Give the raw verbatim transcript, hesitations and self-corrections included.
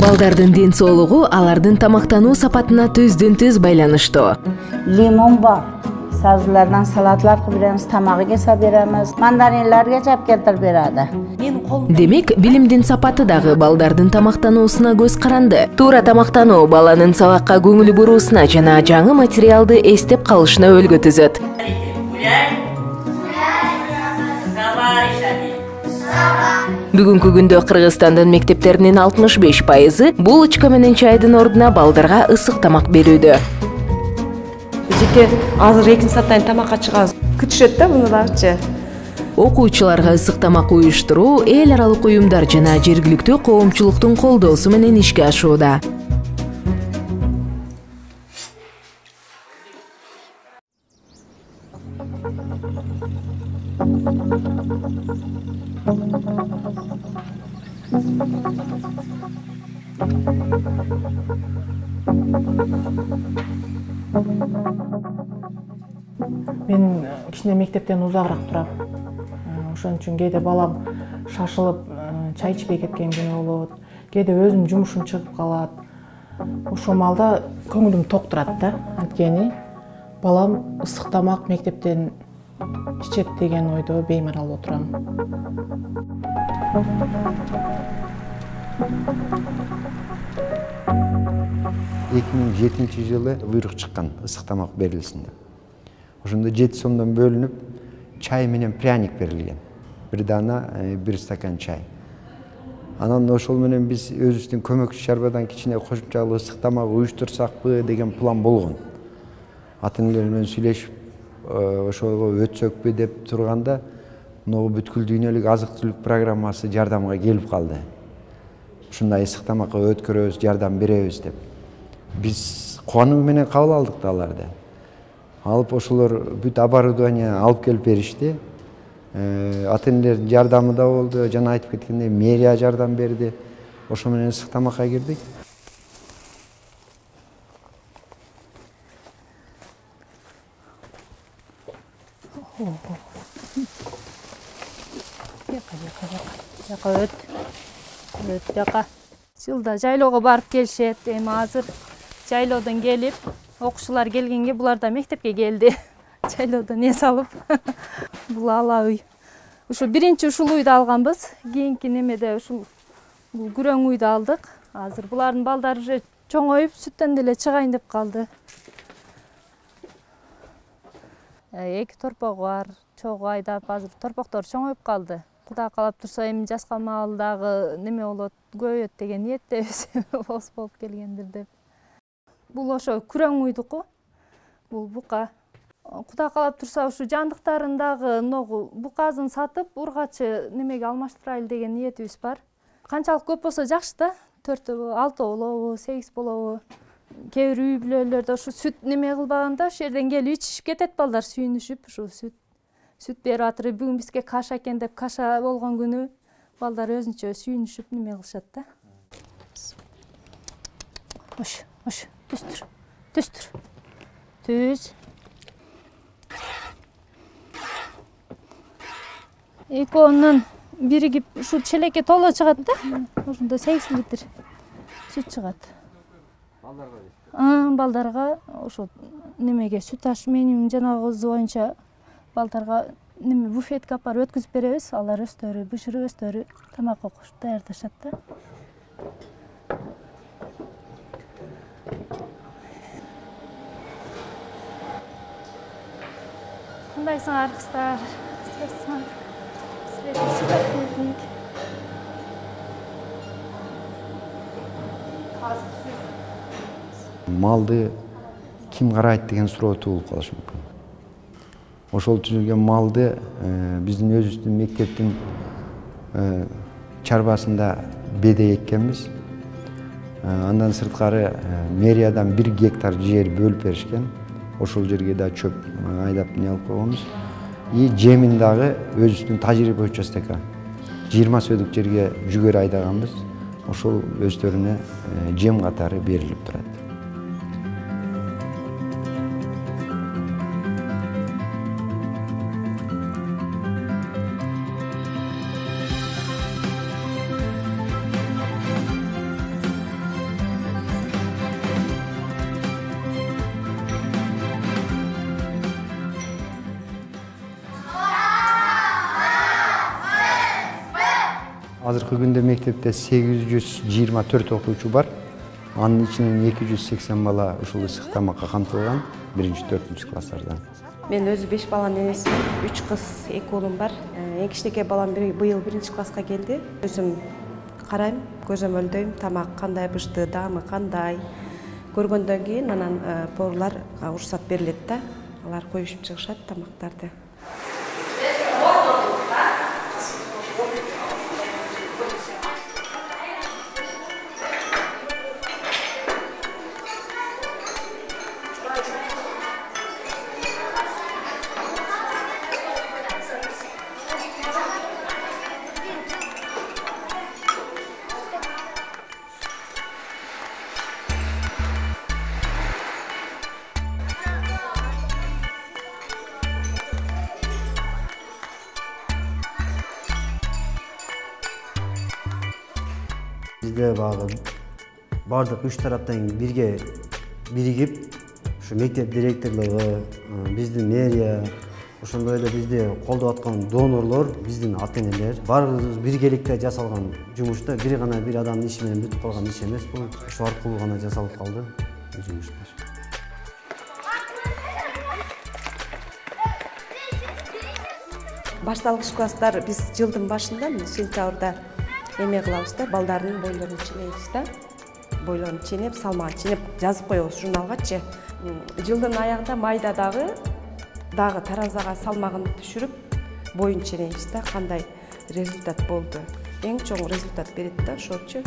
Балдардын ден соолугу алардын тамактануу сапатына түздүн-түз байланыштуу. Лимон бар. Сабзылардан салатлар кылып беребиз, тамагы кесе беребиз, мандаринлерге жеп келтирип берadi. Демек, билимдин сапаты дагы балдардын тамактануусуна көз каранды. Туура тамактануу баланын сабакка көңүл буруусуна жана жаңы материалды эстеп калышына өлгө түзөт. Бүгүнкү күндө Кыргызстандын мектептеринин алтымыш беш пайызы булочка менен чайдын ордуна балдарга ысык тамак берүүдө. Жеке азыр экинчи саттан тамакка чыгабыз. Күтүшөт да муну дагычы. Окуучуларга ысык тамак уюштуруу эл аралык уюмдар жана жергиликтүү коомчулуктун колдоосу менен ишке ашууда. Мен кичине мектептен узагыраак турам. Ошон үчүн кээде балам шашылып чай ичпей кеткен күнү болот. Кээде өзүм жумушум чыгып калат. Ошол маалда көңүлүм ток турат да. Анткени балам ысык тамак мектептен ичет деген ойдо беймарал отурам. эки миң жетинчи жылы буйрук чыккан ысык тамак берилсин деп. Ошондо жети сомдон бөлүнүп, чай менен пряник берилген. Бир дана, бир стакан чай. Анан ошол менен биз өзүбүздүн көмөкчү чарбадан кичине кошумчалуу ысык тамак уюштурсакпы деген план болгон. Ата-энелер менен сүйлөшүп, ошого өтсөкпү деп турганда, могу бүткүл дүйнөлүк азык-түлүк программасы жардамга келип калды. Ушундай ысык тамакка өткөрөбүз, жардам беребиз деп. Биз кубануу менен кабыл алдык да аларды. Алып ошолор бүт оборудование алып келип беришти. Ата-энелердин жардамы да болду, жана айтып кеткендей мэрия жардам берди. Ошо менен ысык тамакка кирдик. Жака өт. Өт жака. Жылда жайлоого барып келишет. Эми азыр жайлоодон келип, окуучулар келгенге булар да мектепке келди. Жайлоодон эс алып. Бул ала үй. Ушу биринчи ушул үйдү алганбыз. Кийинки немеде ушул бул күрөң үйдү алдык. Азыр булардын балдары уже чоңоюп, сүттөн деле чыгайын деп калды. Эки торпогу бар. Чогуу айдап, азыр торпоктор чоңоюп калды. Кудай каалап турса, эми жаска маалдагы неме болот, көбөйөт деген ниеттебиз. Ос болуп келгендир деп. Бул ошо күрөң уйдуку. Бул бука. Кудай каалап турса, ушу жандыктарындагы ногу буказын сатып, ургачы немеге алмаштырайлы деген ниетибиз бар. Канчалык көп болсо жакшы да. төрт, алты болобу, сегиз болобу. Кээ бир үй бүлөлөрдө ушу сүт неме кылбаганда, ошол жерден келип ичишип кетет балдар, сүйүнүшүп, ушу сүт сүт берип атыр. Бүгүн бизге каша экен деп, каша болгон күнү балдар өзүнчө сүйүнүшүп неме кылышат да. Ош, ош, түстүр. Түстүр. Түз. Экөөнүн биригип ушу челекке толо чыгат да. Ошондо сегиз литр сүт чыгат. Балдарга дейсиз? Балдарга ошо немеге сүт аш менюнун жанагысы боюнча балдарга неме буфетке алып барып өткүзүп беребиз. Алар өздөрү бышырып, өздөрү тамак кошуп даярдашат да. Кандайсыңар кыздар? Силерге сүт алып келдик. Малды ким карайт деген суроо туулуп калышы мүмкүн. Ошол түзүлгөн малды биздин өзүбүздүн мектептин чарбасында беде эккенбиз. Андан сырткары мэриядан бир гектар жер бөлүп беришкен. Ошол жерге да чөп айдап не алып койгонбуз. И жемин дагы өзүбүздүн тажрыйба боюнча стека жыйырма сөдүк жерге жүгөр айдаганбыз. Ошол өздөрүнө жем катары берилип турат. Азыркы күндө мектепте сегиз жүз жыйырма төрт окуучу бар. Анын ичинен эки жүз сексен бала ушул ысык тамакка камтылган биринчи төртүнчү класстардан. Мен өзү беш баланын энесимин, үч кыз, эки уулум бар. Эң кичинекей балам быйыл биринчи класска келди. Өзүм карайм, көзөмөлдөйм, тамак кандай бышты, даамы кандай. Көргөндөн кийин анан поварларга уруксат берилет да. Алар коюшуп чыгышат тамактарды. Бизде багы бардык үч тараптан бирге биригип, ушу мектеп директорлугу, биздин мэрия, ошондой эле бизди колдоп аткан донорлор, биздин ата-энелер баарыбыз биргеликте жасалган жумушта бир гана бир адамдын иши менен бүтүп калган иш эмес бул. Ошол аркылуу гана жасалып калды бул жумуштар. Башталгыч класстар биз жылдын башында сентябрда эме кылабыз да, балдардын бойлорун ченейбиз да. Бойлорун ченеп, салмагын ченеп жазып коебуз журналгачы. Жылдын аягында майда дагы дагы таразага салмагын түшүрүп, боюн ченейбиз да, кандай результат болду. Эң чоң результат берет да ошочу.